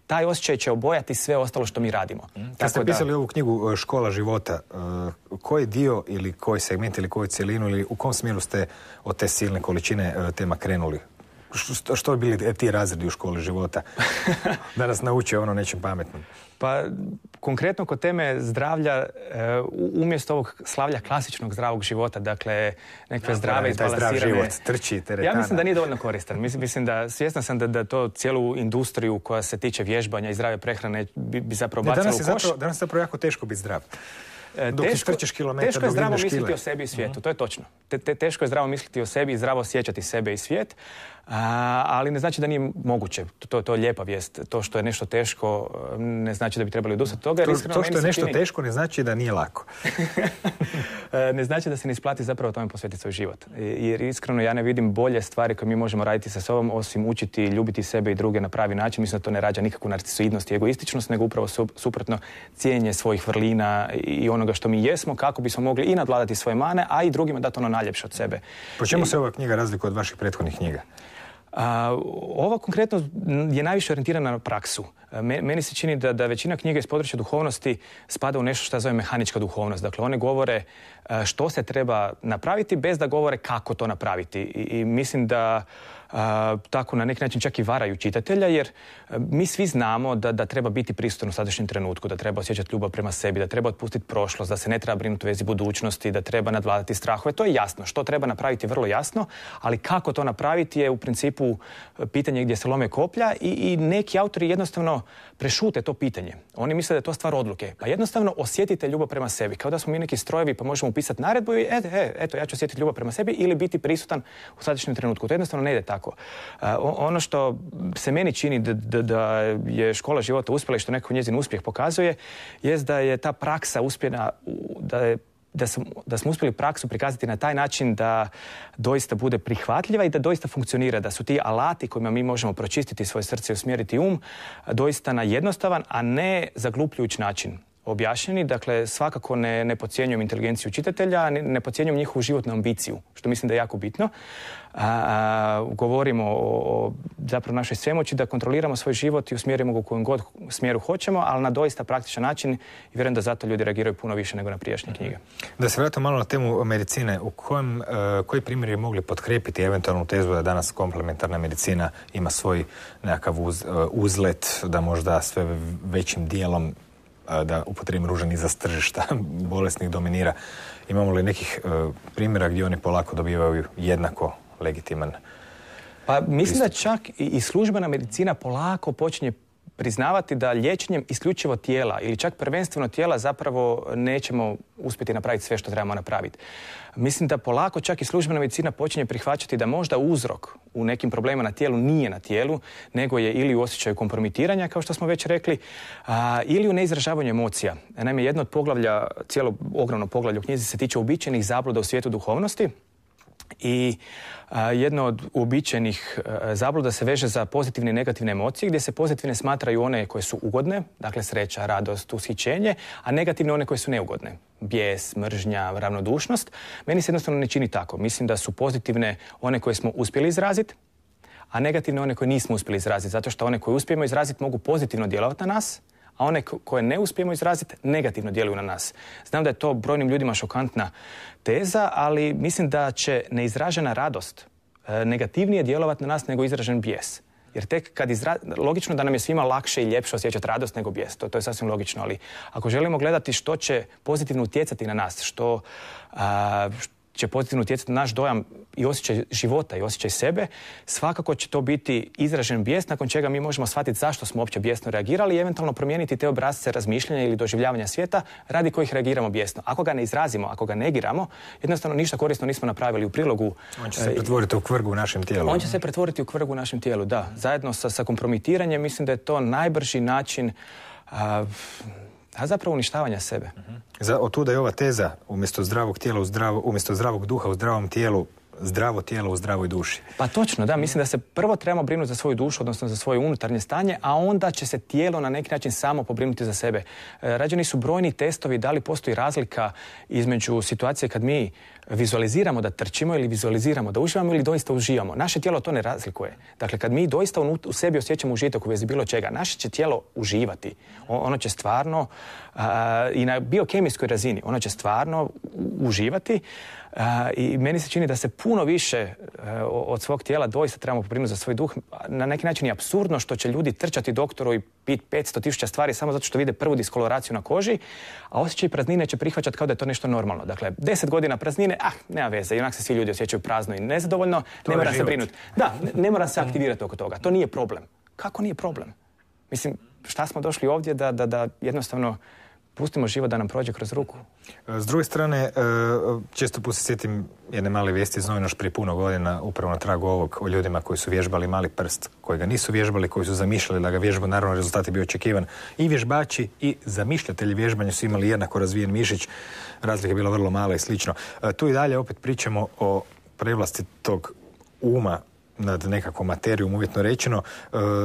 taj osjećaj će obojati sve ostalo što mi radimo. Kad ste pisali ovu knjigu Škola života, koji dio ili koji segment ili koju cjelinu ili u kom smjeru ste od te silne količine tema krenuli? Što bi bili ti razredi u školi života? Da nas nauče ono nečem pametnom. Pa, konkretno kod teme zdravlja, umjesto ovog slavlja klasičnog zdravog života, dakle, nekakve zdrave izbalansirane... Zdrav život, trči, teretana. Ja mislim da nije dovoljno koristan. Mislim da, svjesna sam da to cijelu industriju koja se tiče vježbanja i zdrave prehrane bi zapravo bacila u koš. Danas je zapravo jako teško biti zdrav. Teško je zdravo misliti o sebi i svijetu, to je točno. Teško je zdravo misliti o sebi i zdravo osjećati sebe i svijet, ali ne znači da nije moguće. To je lijepa vijest. To što je nešto teško ne znači da bi trebali odustati od toga. To što je nešto teško ne znači da nije lako. Ne znači da se ne isplati zapravo tome posvetiti svoj život. Jer iskreno ja ne vidim bolje stvari koje mi možemo raditi sa sobom osim učiti i ljubiti sebe i druge na pravi način. Mislim da to ne rađa nikakvu narcisoidnost i egoističnost, nego upravo suprotno cijenje svojih vrlina i onoga što mi jesmo, kako bismo mogli i nadvladati svoje mane, a i drugima dati ono najljepše od sebe. Po čemu se ova knjiga razlikuje od vaših prethodnih knjiga? Ova konkretno je najviše orijentirana na praksu. Meni se čini da većina knjiga iz područja duhovnosti spada u nešto što zove mehanička duhovnost. Dakle, one govore što se treba napraviti bez da govore kako to napraviti. I mislim da tako na neki način čak i varaju čitatelja, jer mi svi znamo da treba biti prisutan u sadašnjem trenutku, da treba osjećati ljubav prema sebi, da treba otpustiti prošlost, da se ne treba brinuti u vezi budućnosti, da treba nadvladati strahove. To je jasno. Što treba napraviti vrlo jasno, ali kako to napraviti je u principu pitanje gdje se lome koplja i neki autori jednostavno prešute to pitanje. Oni misle da je to stvar odluke. Pa jednostavno osjetite ljubav prema sebi. Kao da smo mi neki strojevi pa možemo upisati naredbu i eto, ja ću osjetiti ljubav prema sebi ili biti prisutan u sadašnjem trenutku. To jednostavno ne ide tako. Ono što se meni čini da je škola života uspjela i što nekako njezin uspjeh pokazuje, jest da je ta praksa uspjena, da smo uspjeli praksu prikazati na taj način da doista bude prihvatljiva i da doista funkcionira, da su ti alati kojima mi možemo pročistiti svoje srce i usmjeriti doista na jednostavan, a ne zaglupljujući način objašnjeni. Dakle, svakako ne podcjenjujem inteligenciju čitatelja, ne podcjenjujem njihovu životnu ambiciju, što mislim da je jako bitno. Govorimo o zapravo našoj svemoći da kontroliramo svoj život i usmjerimo ga u kojem god smjeru hoćemo, ali na doista praktičan način i vjerujem da zato ljudi reagiraju puno više nego na prijašnje knjige. Da se vratimo malo na temu medicine, koji primjeri mogli potkrijepiti eventualnu tezu da danas komplementarna medicina ima svoj nekakav uzlet, da možda sve većim dijelom, da upotrijebim ružan izraz, tržišta bolesnih dominira. Imamo li nekih primjera gdje oni polako dobivaju jednako legitiman Pa mislim pristup? Da čak i službena medicina polako počinje priznavati da liječenjem isključivo tijela ili čak prvenstveno tijela zapravo nećemo uspjeti napraviti sve što trebamo napraviti. Mislim da polako čak i službena medicina počinje prihvaćati da možda uzrok u nekim problemima na tijelu nije na tijelu, nego je ili u osjećaju kompromitiranja, kao što smo već rekli, ili u neizražavanju emocija. Naime, jedno od poglavlja, cijelo ogromno poglavlje u knjizi se tiče uobičajenih zabluda u svijetu duhovnosti. I jedno od uobičajenih zabluda se veže za pozitivne i negativne emocije, gdje se pozitivne smatraju one koje su ugodne, dakle sreća, radost, ushićenje, a negativne one koje su neugodne. Bijes, mržnja, ravnodušnost. Meni se jednostavno ne čini tako. Mislim da su pozitivne one koje smo uspjeli izraziti, a negativne one koje nismo uspjeli izraziti, zato što one koje uspijemo izraziti mogu pozitivno djelovati na nas, a one koje ne uspijemo izraziti negativno djeluju na nas. Znam da je to brojnim ljudima šokantna teza, ali mislim da će neizražena radost negativnije djelovati na nas nego izražen bijes. Jer tek kad logično da nam je svima lakše i ljepše osjećati radost nego bijes. To je sasvim logično, ali ako želimo gledati što će pozitivno utjecati na nas, što će pozitivno utjecati na naš dojam i osjećaj života i osjećaj sebe, svakako će to biti izražen bijes, nakon čega mi možemo shvatiti zašto smo uopće bijesno reagirali i eventualno promijeniti te obrasce razmišljanja ili doživljavanja svijeta radi kojih reagiramo bijesno. Ako ga ne izrazimo, ako ga negiramo, jednostavno ništa korisno nismo napravili u prilogu. On će se pretvoriti u kvrgu u našem tijelu. On će se pretvoriti u kvrgu u našem tijelu, da. Zajedno sa kompromitiranjem mislim da je to najbrži način a zapravo uništavanja sebe. Otuda je ova teza, umjesto zdravog tijela umjesto zdravog duha u zdravom tijelu, zdravo tijelo u zdravoj duši. Pa točno, da. Mislim da se prvo trebamo brinuti za svoju dušu, odnosno za svoje unutarnje stanje, a onda će se tijelo na neki način samo pobrinuti za sebe. Rađeni su brojni testovi da li postoji razlika između situacije kad mi vizualiziramo da trčimo ili vizualiziramo da uživamo ili doista uživamo. Naše tijelo to ne razlikuje. Dakle, kad mi doista u sebi osjećamo užitak u vezi bilo čega, naše će tijelo uživati. Ono će stvarno i na biokemijskoj razini, ono će stvarno uživati i meni se čini da se puno više od svog tijela doista trebamo pobrinuti za svoj duh. Na neki način je apsurdno što će ljudi trčati doktoru i piti 500.000 stvari samo zato što vide prvu diskoloraciju na koži, a osjećaj praznine će prihvaćati kao da je to nešto normalno. Dakle, 10 godina praznine, nema veze, i onak se svi ljudi osjećaju prazno i nezadovoljno, ne mora se brinuti. Da, ne mora se aktivirati oko toga. To nije problem. Kako nije problem? Mislim, šta smo došli ovdje da jednostavno pustimo život da nam prođe kroz ruku. S druge strane, često put se sjetim jedne male vijesti iz novina još prije puno godina, upravo na tragu ovog, o ljudima koji su vježbali mali prst, koji ga nisu vježbali, koji su zamišljali da ga vježbu, naravno rezultat je bio očekivan. I vježbači i zamišljatelji vježbanja su imali jednako razvijen mišić, razlika je bila vrlo mala i slično. Tu i dalje opet pričamo o prevlasti tog uma nad nekakvom materijom, uvjetno rečeno.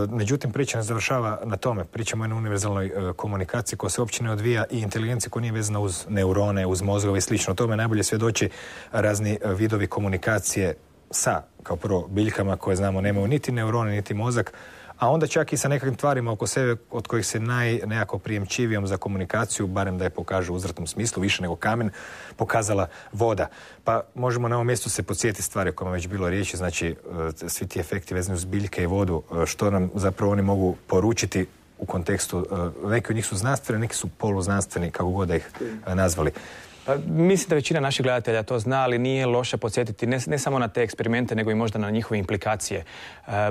Međutim, priča ne završava na tome. Pričamo o jednoj univerzalnoj komunikaciji koja se uopće ne odvija i inteligenciji koja nije vezana uz neurone, uz mozgove i slično. O tome najbolje svjedoči razni vidovi komunikacije sa, kao prvo, biljkama koje znamo nemaju niti neurone, niti mozak, a onda čak i sa nekakvim tvarima oko sebe od kojih se nekako prijemčivijom za komunikaciju, barem da je pokaže u uzvratnom smislu, više nego kamen, pokazala voda. Pa možemo na ovom mjestu se podsjetiti stvari o kojima već bilo riječi, znači svi ti efekti vezani uz biljke i vodu, što nam zapravo oni mogu poručiti u kontekstu, neki od njih su znanstveni, neki su poluznanstveni, kako god da ih nazvali. Mislim da većina naših gledatelja to zna, ali nije loše podsjetiti ne samo na te eksperimente, nego i možda na njihove implikacije.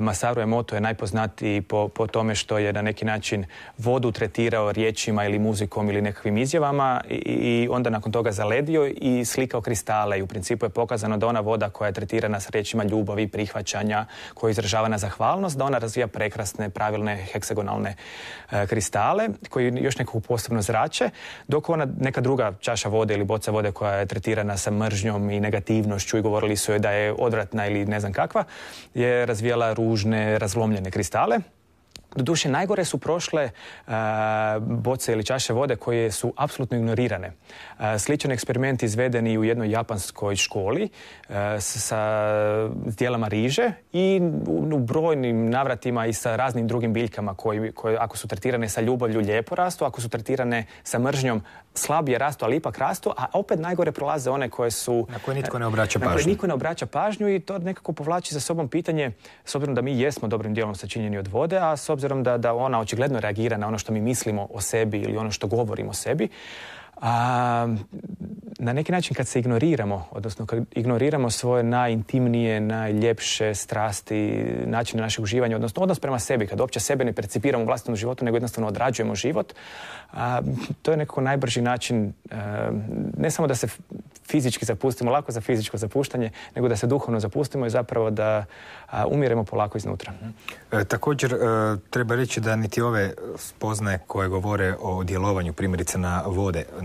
Masaru Emoto je najpoznatiji po tome što je na neki način vodu tretirao riječima ili muzikom ili nekakvim izjavama i onda nakon toga zaledio i slikao kristale. I u principu je pokazano da ona voda koja je tretirana s riječima ljubavi, prihvaćanja, koja je izražavana zahvalnost, da ona razvija prekrasne, pravilne, heksagonalne kristale koji još nekako posebno zrače, dok ona neka druga čaša vode ili boca vode koja je tretirana sa mržnjom i negativnošću i govorili su joj da je odvratna ili ne znam kakva, je razvijala ružne, razlomljene kristale. Doduše, najgore su prošle boce ili čaše vode koje su apsolutno ignorirane. Sličan eksperiment izveden i u jednoj japanskoj školi sa dijelama riže i u brojnim navratima i sa raznim drugim biljkama koje ako su tretirane sa ljubavlju lijepo rastu, ako su tretirane sa mržnjom slabije rastu, ali ipak rastu, a opet najgore prolaze one koje su... Na koje nitko ne obraća pažnju. Na koje nitko ne obraća pažnju i to nekako povlači za sobom pitanje, s obzirom da mi jesmo dobrim dijelom sačinjeni od vode, a s obzirom da ona očigledno reagira na ono što mi mislimo o sebi ili ono što govorimo o sebi, na neki način kad se ignoriramo, odnosno kad ignoriramo svoje najintimnije, najljepše strasti, načine našeg uživanja, odnosno odnos prema sebi, kad uopće sebe ne percipiramo u vlastitom životu, nego jednostavno odrađujemo život, to je nekako najbrži način, ne samo da se fizički zapustimo, lako za fizičko zapuštanje, nego da se duhovno zapustimo i zapravo da umiremo polako iznutra. Također, treba reći da niti ove spoznaje koje govore o djelovanju primjerice na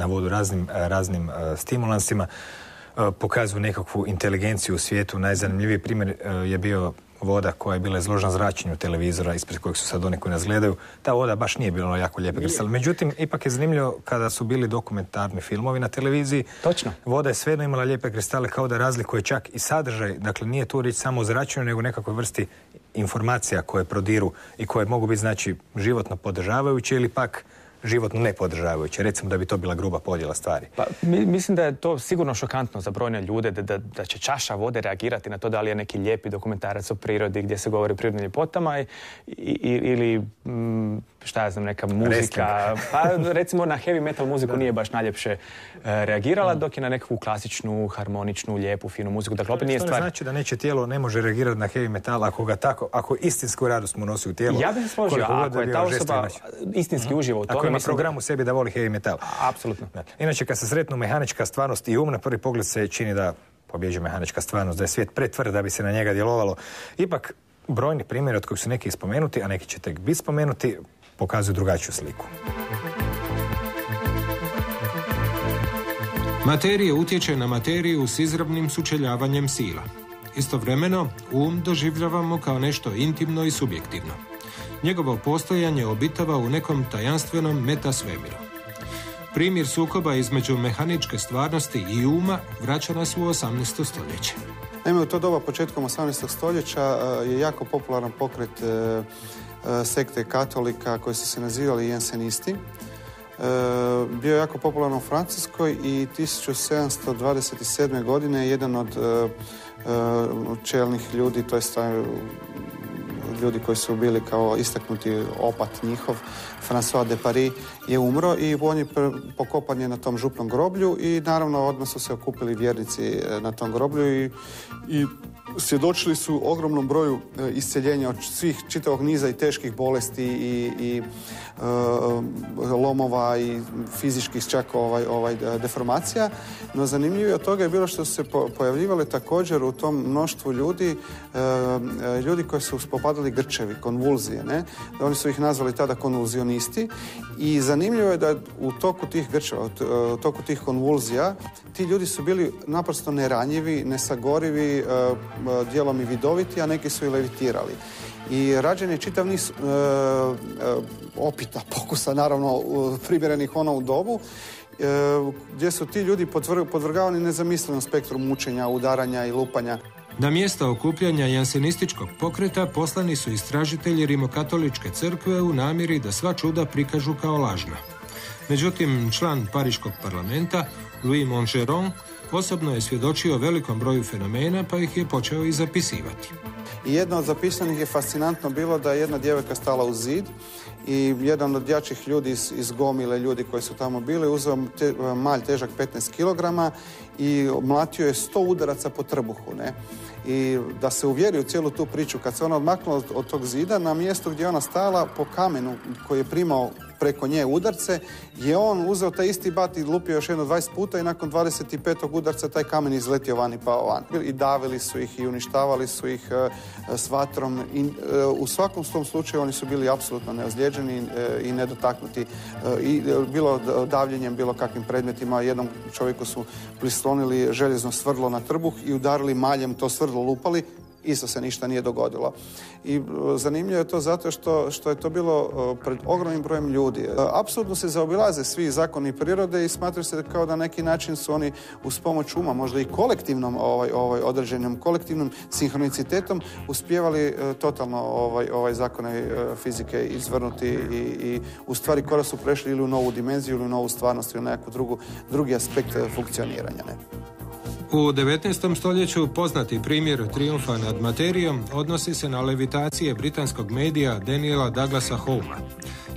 vodu raznim stimulansima pokazuju nekakvu inteligenciju u svijetu. Najzanimljiviji primjer je bio voda koja je bila izložena zračenju televizora ispred kojeg su sad oni koji nas gledaju. Ta voda baš nije bila jako lijepa kristala. Međutim, ipak je zanimljivo kada su bili dokumentarni filmovi na televiziji. Točno. Voda je svejedno imala lijepe kristale kao da razlikuje čak i sadržaj. Dakle, nije tu riječ samo o zračenju, nego nekakvoj vrsti informacija koje prodiru i koje mogu biti, znači, životno podržavajuće ili pak životno nepodržavajuće. Recimo da bi to bila gruba podjela stvari. Pa, mislim da je to sigurno šokantno za brojne ljude, da će čaša vode reagirati na to da li je neki lijepi dokumentarac o prirodi gdje se govori o prirodnim ljepotama ili šta ja znam, neka muzika. Pa recimo na heavy metal muziku nije baš najljepše reagirala, dok je na nekakvu klasičnu, harmoničnu, lijepu, finu muziku. Dakle, opet nije stvar... To ne znači da neće tijelo ne može reagirati na heavy metal ako istinsku radost mu nosi u tijelo. Ja bih se složio, ako je ta osoba istinski uživa u tome... Ako ima program u sebi da voli heavy metal. Apsolutno. Inače, kad se sretnu mehanička stvarnost i na prvi pogled se čini da pobjeđuje mehanička stvarnost, da je svijet pretvrd da bi se na njega djelovalo. Ipak, brojni primjeri od kojih su neki spomenuti, a neki će tek biti spomenuti, pokazuju drugačiju sliku. Materija utječe na materiju s izravnim sučeljavanjem sila. Istovremeno, doživljavamo kao nešto intimno i subjektivno. Njegovo postojanje obitava u nekom tajanstvenom metasvemiru. Primjer sukoba između mehaničke stvarnosti i vraća nas u 18. stoljeće. Naime, u to doba početkom 18. stoljeća je jako popularan pokret sekte katolika koji su se nazivali jensenisti. Bio je jako popularan u Francuskoj i 1727. godine jedan od čelnih ljudi, to je ljudi koji su bili kao istaknuti opat njihov, François de Paris, je umro i on je pokopan je na tom župnom groblju i naravno odmah su se okupili vjernici na tom groblju i svjedočili su ogromnom broju isceljenja od svih čitavog niza i teških bolesti i lomova i fizičkih čak deformacija. No zanimljivo od toga je bilo što su se pojavljivali također u tom mnoštvu ljudi koji su popadali grčevi, konvulzije. Ne? Oni su ih nazvali tada konvulzionisti i zanimljivo je da u toku tih grčeva, u toku tih konvulzija, ti ljudi su bili naprosto neranjivi, nesagorivi, dijelom i vidoviti, a neki su i levitirali. I rađen je čitav niz opita, pokusa, naravno, primjerenih u dobu, gdje su ti ljudi podvrgavani nezamislenom spektru mučenja, udaranja i lupanja. Na mjesta okupljanja jansenističkog pokreta poslani su istražitelji rimokatoličke crkve u namjeri da sva čuda prikažu kao lažna. Međutim, član Pariškog parlamenta, Louis Mongeron, osobno je svjedočio velikom broju fenomena, pa ih je počeo i zapisivati. I jedno od zapisanih je fascinantno bilo da je jedna djevojka stala uz zid i jedan od jačih ljudi iz gomile ljudi koji su tamo bili uzeo malj težak 15 kg i mlatio je 100 udaraca po trbuhu, ne? I da se uvjeri u cijelu tu priču, kad se ona odmaknula od tog zida, na mjestu gdje ona stala po kamenu koji je primao preko nje udarce, je on uzeo taj isti bat i lupio još jedno 20 puta i nakon 25. udarca taj kamen izletio van i pao van. I davili su ih i uništavali su ih s vatrom i u svakom tom slučaju oni su bili apsolutno neozlijeđeni i nedotaknuti. I bilo davljenjem, bilo kakvim predmetima. Jednom čovjeku su prislonili željezno svrdlo na trbuh i udarili maljem, to svrdlo lupali. Isto se ništa nije dogodilo. I zanimljivo je to zato što je to bilo pred ogromnim brojem ljudi. Apsolutno se zaobilaze svi zakoni prirode i smatraju se kao da na neki način su oni uz pomoć uma, možda i kolektivnom određenim kolektivnom sinhronicitetom uspijevali totalno zakone fizike izvrnuti i u stvari kada su prešli ili u novu dimenziju ili u novu stvarnost ili u nekakvu drugi aspekt funkcioniranja. Ne? U 19. stoljeću poznati primjer trijumfa nad materijom odnosi se na levitacije britanskog medija Daniela Douglasa Homea.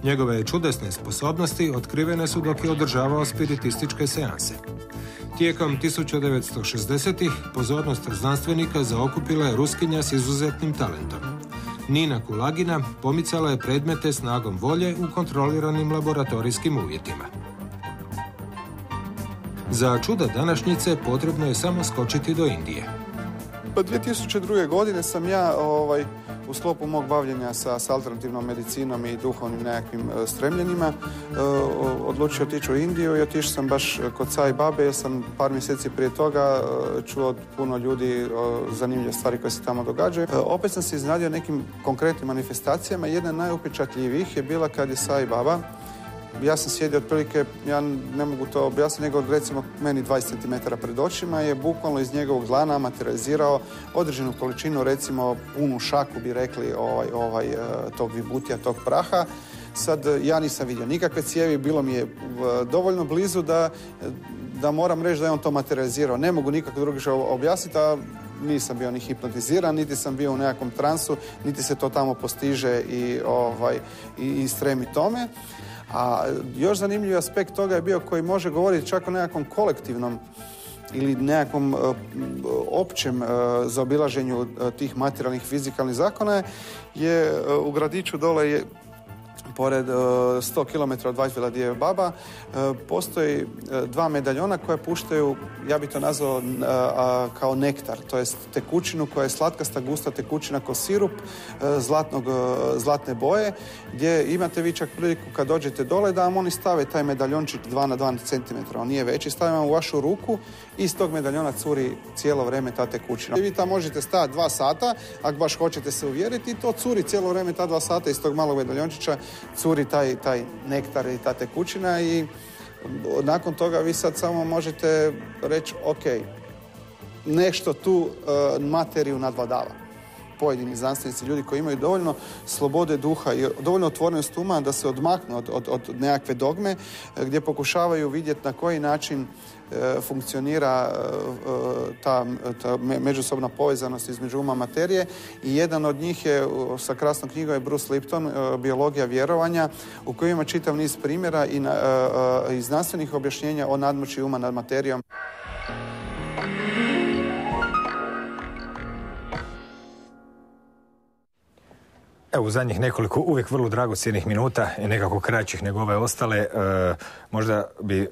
Njegove čudesne sposobnosti otkrivene su dok je održavao spiritističke seanse. Tijekom 1960-ih pozornost znanstvenika zaokupila je Ruskinja s izuzetnim talentom. Nina Kulagina pomicala je predmete snagom volje u kontroliranim laboratorijskim uvjetima. Za čuda današnjice potrebno je samo skočiti do Indije. 2002. godine sam ja u sklopu mog bavljenja sa alternativnom medicinom i duhovnim nekakvim stremljenjima odlučio otići u Indiju i otišao sam baš kod Sai Babe jer sam par mjeseci prije toga čuo od puno ljudi zanimljive stvari koje se tamo događaju. Opet sam se iznenadio nekim konkretnim manifestacijama. Jedna najupečatljivijih je bila kad je Sai Baba, ja sam sjedio otprilike, ja ne mogu to objasniti, nego recimo meni 20 cm pred očima je bukvalno iz njegovog dlana materializirao određenu količinu, recimo punu šaku bi rekli tog vibutija, tog praha. Sad ja nisam vidio nikakve cijevi, bilo mi je dovoljno blizu da moram reći da je on to materializirao. Ne mogu nikako drugačije objasniti, nisam bio ni hipnotiziran, niti sam bio u nekakvom transu, niti se to tamo postiže i stremi tome. A još zanimljiv aspekt toga je bio koji može govoriti čak o nekakvom kolektivnom ili nekakvom općem zaobilaženju tih materijalnih fizikalnih zakona je u gradiću dole je pored 100 km od Whitevilla gdje je Baba, postoji dva medaljona koja puštaju, ja bih to nazvao kao nektar, to jest tekućinu koja je slatkasta, gusta tekućina kao sirup zlatne boje, gdje imate vi čak priliku kad dođete dole da vam oni stave taj medaljončik 2 na 2 cm, on nije veći, stavim vam u vašu ruku i iz tog medaljona curi cijelo vrijeme ta tekućina. I vi tamo možete stajati 2 sata, ako baš hoćete se uvjeriti, to curi cijelo vrijeme ta 2 sata iz tog malog medaljončića curi taj nektar i ta tekućina i nakon toga vi sad samo možete reći ok, nešto tu materiju nadvladava. Pojedini znanstvenici, ljudi koji imaju dovoljno slobode duha i dovoljno otvorenost uma da se odmaknu od nekakve dogme gdje pokušavaju vidjeti na koji način funkcionira ta međusobna povezanost između uma i materije i jedan od njih je sa krasnom knjigom je Bruce Lipton, Biologija vjerovanja, u kojoj ima čitav niz primjera i znanstvenih objašnjenja o nadmoći uma nad materijom. Evo, u zadnjih nekoliko uvijek vrlo dragocjenih minuta i nekako kraćih nego ove ostale, možda bi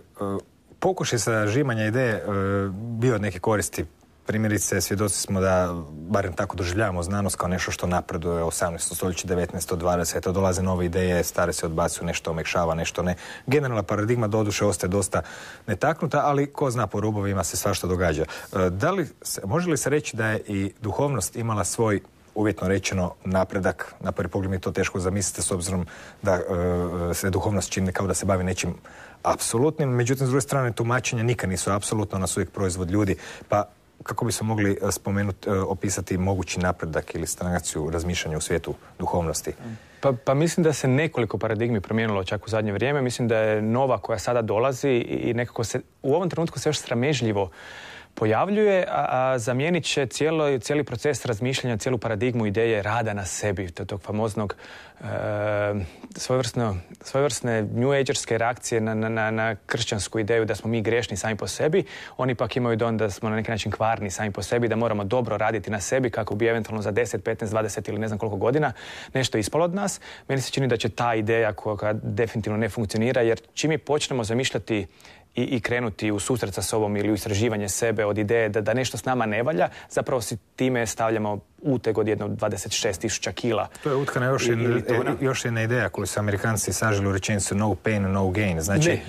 pokušaj sažimanja ideje bio od neke koristi. Primjerice, svjedoci smo da, barem tako doživljavamo znanost kao nešto što napreduje 18. stoljeće, 19. 20. Dolaze nove ideje, stare se odbacuju, nešto omekšava, nešto ne. Generalna paradigma doduše ostaje dosta netaknuta, ali ko zna, po rubovima se svašta događa. Može li se reći da je i duhovnost imala svoj, uvjetno rečeno, napredak? Na prvi pogled mi to teško zamislite s obzirom da se duhovnost čini kao da se bavi nečim apsolutnim, međutim, s druge strane, tumačenja nikad nisu apsolutno, ona su uvijek proizvod ljudi, pa kako bismo mogli opisati mogući napredak ili stagnaciju razmišljanja u svijetu duhovnosti? Pa mislim da se nekoliko paradigmi promijenilo čak u zadnje vrijeme. Mislim da je nova koja sada dolazi i nekako se u ovom trenutku se još sramežljivo pojavljuje, a zamijenit će cijeli proces razmišljanja, cijelu paradigmu ideje rada na sebi, tog famoznog svojevrsne new agerske reakcije na kršćansku ideju da smo mi grešni sami po sebi. Oni pak imaju dojam da smo na neki način kvarni sami po sebi, da moramo dobro raditi na sebi kako bi eventualno za 10, 15, 20 ili ne znam koliko godina nešto ispalo od nas. Meni se čini da će ta ideja koja definitivno ne funkcionira, jer čim mi počnemo zamišljati i krenuti u susret sa sobom ili u istraživanje sebe od ideje da nešto s nama ne valja, zapravo si time stavljamo uteg od jedno 26.000 kila. To je utkana još jedna ideja koju su Amerikanci saželi u rečenicu no pain, no gain. Znači,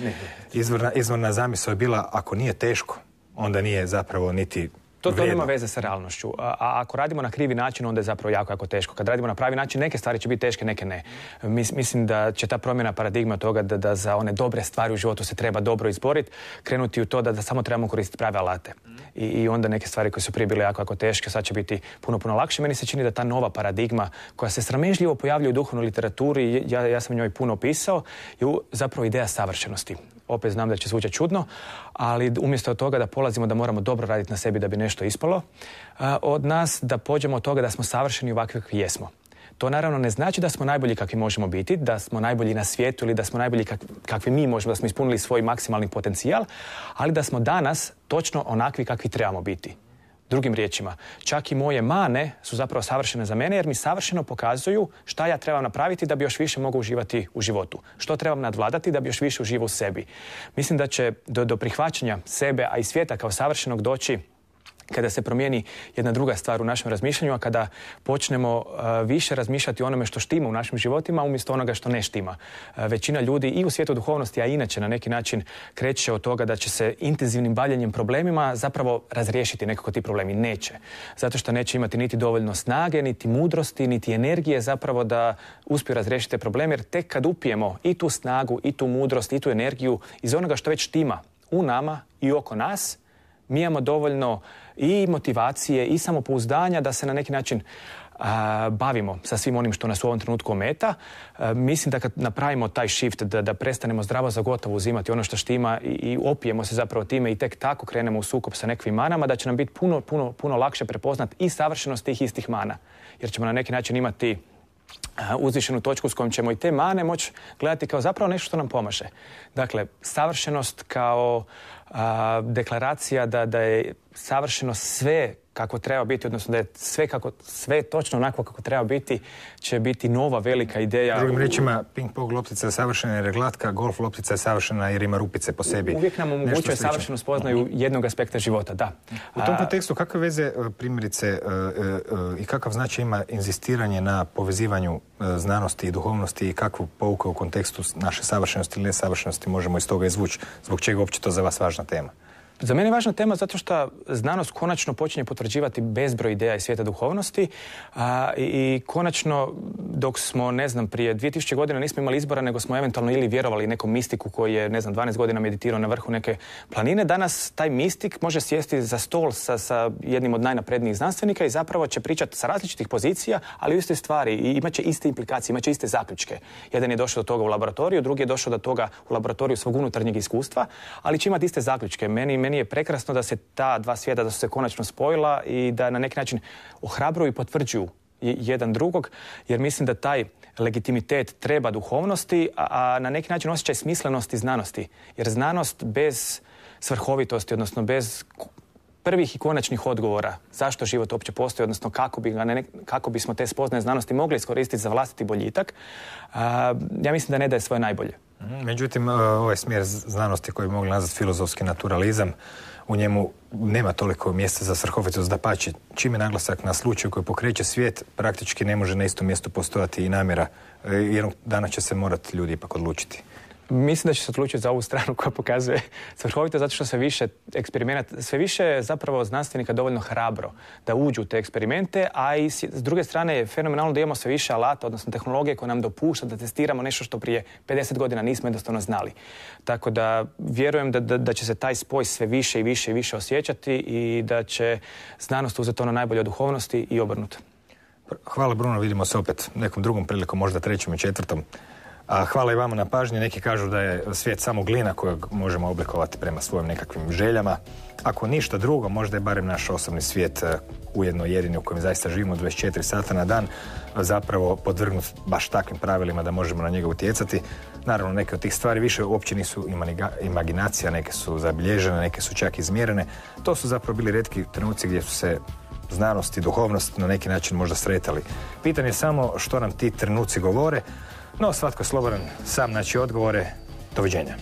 izvorna zamisao je bila ako nije teško, onda nije zapravo niti To nema veze sa realnošću. A ako radimo na krivi način, onda je zapravo jako, jako teško. Kad radimo na pravi način, neke stvari će biti teške, neke ne. Mislim da će ta promjena paradigma toga da za one dobre stvari u životu se treba dobro izboriti, krenuti u to da samo trebamo koristiti prave alate. I onda neke stvari koje su prije bile jako, jako teške, sad će biti puno, puno lakše. Meni se čini da ta nova paradigma koja se sramežljivo pojavljuje u duhovnoj literaturi, ja sam njoj puno pisao, je zapravo ideja savršenosti. Opet znam da će zvučati čudno, ali umjesto toga da polazimo da moramo dobro raditi na sebi da bi nešto ispalo, od nas da pođemo od toga da smo savršeni ovakvi kakvi jesmo. To naravno ne znači da smo najbolji kakvi možemo biti, da smo najbolji na svijetu ili da smo najbolji kakvi mi možemo, da smo ispunili svoj maksimalni potencijal, ali da smo danas točno onakvi kakvi trebamo biti. Drugim riječima, čak i moje mane su zapravo savršene za mene jer mi savršeno pokazuju šta ja trebam napraviti da bi još više mogao uživati u životu. Što trebam nadvladati da bi još više uživao u sebi. Mislim da će do prihvaćanja sebe, a i svijeta kao savršenog doći kada se promijeni jedna druga stvar u našem razmišljanju, a kada počnemo više razmišljati o onome što štima u našim životima umjesto onoga što ne štima. Većina ljudi i u svijetu duhovnosti, a inače na neki način kreće od toga da će se intenzivnim bavljenjem problemima zapravo razriješiti nekako ti problemi. Neće. Zato što neće imati niti dovoljno snage, niti mudrosti, niti energije zapravo da uspiju razriješiti te probleme, jer tek kad upijemo i tu snagu, i tu mudrost, i tu energiju iz onoga što već štima u nama i oko nas, mi imamo dovoljno i motivacije i samopouzdanja da se na neki način bavimo sa svim onim što nas u ovom trenutku ometa. Mislim da kad napravimo taj shift, da prestanemo zdravo za gotovo uzimati ono što štima i opijemo se zapravo time i tek tako krenemo u sukob sa nekakvim manama, da će nam biti puno lakše prepoznat i savršenost tih istih mana. Jer ćemo na neki način imati uzvišenu točku s kojom ćemo i te mane moći gledati kao zapravo nešto što nam pomaže. Dakle, savršenost kao deklaracija da je savršeno sve kako treba biti, odnosno da je sve točno onako kako treba biti, će biti nova velika ideja. Drugim riječima, ping-pong loptica je savršena jer je glatka, golf loptica je savršena jer ima rupice po sebi. Uvijek nam omogućuje savršenu spoznaju jednog aspekta života, da. U tom kontekstu kakve veze primjerice i kakav značaj ima inzistiranje na povezivanju znanosti i duhovnosti i kakvu pouku u kontekstu naše savršenosti ili nesavršenosti možemo iz toga izvući? Zbog čega uopće to za vas važna tema? Za mene je važna tema zato što znanost konačno počinje potvrđivati bezbroj ideja iz svijeta duhovnosti i konačno dok smo, prije 2000 godina nismo imali izbora, nego smo eventualno ili vjerovali nekom mistiku koji je, 12 godina meditirao na vrhu neke planine. Danas taj mistik može sjesti za stol sa jednim od najnaprednijih znanstvenika i zapravo će pričati sa različitih pozicija, ali u iste stvari i imat će iste implikacije, imat će iste zaključke. Jedan je došao do toga u laboratoriju, drugi je došao do toga u laboratoriju svog unutarnjeg iskustva, ali će imati iste zaključke. Meni je prekrasno da se ta dva svijeta da su se konačno spojila i da na neki način ohrabruju i potvrđuju jedan drugog, jer mislim da taj legitimitet treba duhovnosti, a na neki način osjećaj smislenosti znanosti. Jer znanost bez svrhovitosti, odnosno bez prvih i konačnih odgovora zašto život uopće postoji, odnosno kako bismo te spoznaje znanosti mogli iskoristiti za vlastiti boljitak, ja mislim da ne daje svoje najbolje. Međutim, ovaj smjer znanosti koji bi mogli nazvati filozofski naturalizam, u njemu nema toliko mjesta za svrhovitost, dapače. Čim je naglasak na slučaju koji pokreće svijet, praktički ne može na istom mjestu postojati i namjera. Jednog dana će se morati ljudi ipak odlučiti. Mislim da će se odlučiti za ovu stranu koja pokazuje svrhovito, zato što sve više eksperimenata, sve više je zapravo znanstvenika dovoljno hrabro da uđu u te eksperimente, a i s druge strane je fenomenalno da imamo sve više alata, odnosno tehnologije koje nam dopušta da testiramo nešto što prije 50 godina nismo jednostavno znali. Tako da vjerujem da će se taj spoj sve više i više i više osjećati i da će znanost uzeti ono najbolje od duhovnosti i obrnuto. Hvala Bruno, vidimo se opet nekom drugom prilikom, možda 3. i 4. A hvala i vama na pažnji. Neki kažu da je svijet samo glina kojeg možemo oblikovati prema svojim nekakvim željama. Ako ništa drugo, možda je barem naš osobni svijet ujedno jedini u kojem zaista živimo 24 sata na dan, zapravo podvrgnut baš takvim pravilima da možemo na njega utjecati. Naravno, neke od tih stvari više uopće nisu imaginacija, neke su zabilježene, neke su čak izmjerene. To su zapravo bili retki trenuci gdje su se znanost i duhovnost na neki način možda sretali. Pitanje je samo što nam ti trenuci govore, no svatko je slobodan sam naći odgovore. Doviđenja.